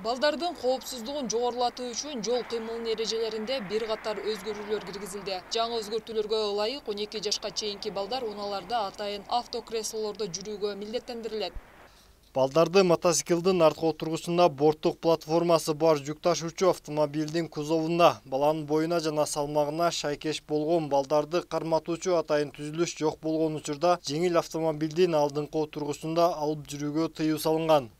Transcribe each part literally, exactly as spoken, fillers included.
Балдардын коопсуздугун жогорулатуу үчүн жол кыймылынын эрежелеринде бир катар өзгөрүүлөр киргизилди. Жаңы өзгөртүүлөргө ылайык он эки жашка чейинки балдар унааларда атайын автокреслолордо жүрүүгө милдеттендирилет. Балдарды мотоциклдин арткы отургусунда борттук платформасы бар жүк ташуучу автомобилдин кузовунда баланын боюна жана салмагына шайкеш болгон балдарды карматуучу атайын түзүлүш жок болгон учурда жеңил автомобилдин алдыңкы отургусунда алып жүрүүгө тыюу салынган.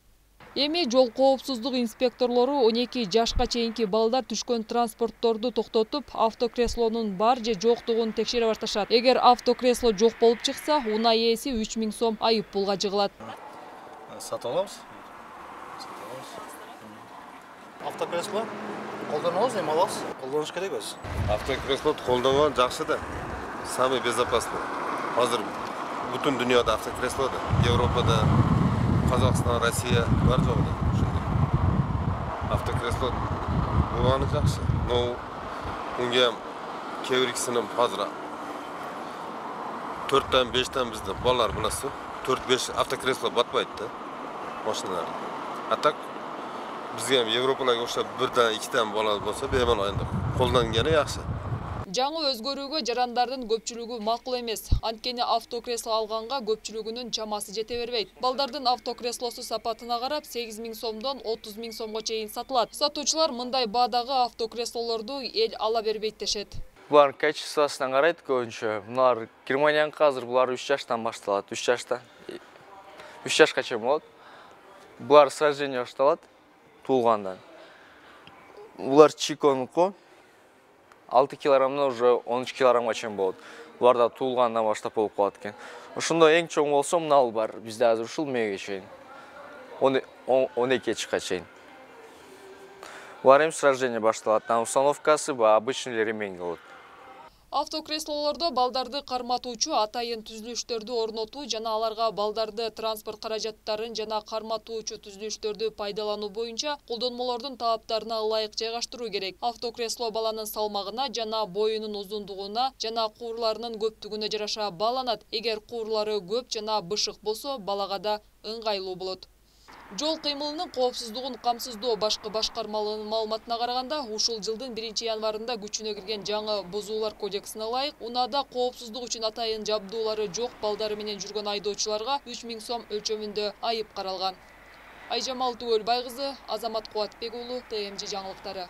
Эми жол коопсуздук инспекторлору он эки жашка чейинки балдар түшкөн транспортторду токтотуп, автокреслонун бар же жоктугун текшере башташат. Эгер автокресло жок болуп чыкса, унаа ээси үч миң сом айып пулга жыгылат. Сатып алабыз. Автокресло колдонобуз, эми алабыз. Колдонуш керек өзү. Автокресло колдонгон жакшы да. Самый безопасный. Азыр бүтүн дүйнөдө автокресло да. Европада, Казакстан, Россия бар жок да. Ошондой. Автокресло булганы жакшы. Но унга кээ бирисинин азыр төрттөн бештен бизде балдар билесиз, төрт беш автокресло батпайт да. Машиналар. А так бизге Европаларга окшоп бирден, ikkiden бала болсо, бемал айында колдонганы жакшы. Жаңы өзгөрүүгө жарандардын көпчүлүгү макул эмес. Анткени автокресло алганга көпчүлүгүнүн чамасы жете бербейт. Балдардын автокреслосу сапатына карап сегиз миң сомдон отуз миң сомго чейин сатылат. Сатуучулар мындай баадагы автокреслолорду эл ала бербейт дешет. Булар качествосуна карайт көбүнчө. Булар Германияныкы азыр булар үч жаштан башталат. үч жаштан. үч жашка чейин болот. Булар с рождения башталат, туулгандан. Булар Чиконуку алты килограммдан уже он үч килограммга чейин болот. Буларда туулгандан баштап болуп калат экен. Ошондо эң чоң болсо мына бар. Бизде азыр ушул мээге чейин. он эки жашка чейин. Булар эми с рождения башталат. Установкасы ба обычный ремень болот. Автокреслолордо балдарды карматуучу атайын түзүлүштөрдү орнотуу жана аларга балдарды транспорт каражаттарын жана карматуучу түзүлүштөрдү пайдалануу боюнча колдонмолордун талаптарына ылайык жайгаштыруу керек. Автокресло баланын салмагына жана боюнун узундугуна жана куурларынын көптүгүнө жараша бааланат. Эгер куурлары көп жана бышык болсо, балага да ыңгайлуу болот. Жол кыймылынын коопсуздугун камсыздоо башкы башкармалыгынын маалыматына караганда, ушул жылдын биринчи январында күчүнө кирген жаңы бузуулар кодексине ылайык, унаада коопсуздук үчүн атайын жабдуулары жок балдары менен жүргөн айдоочуларга үч миң сом өлчөмүндө айып каралган. Айжамал Түгөлбай кызы, Азамат Кубатбек уулу, Т М Ж жаңылыктары.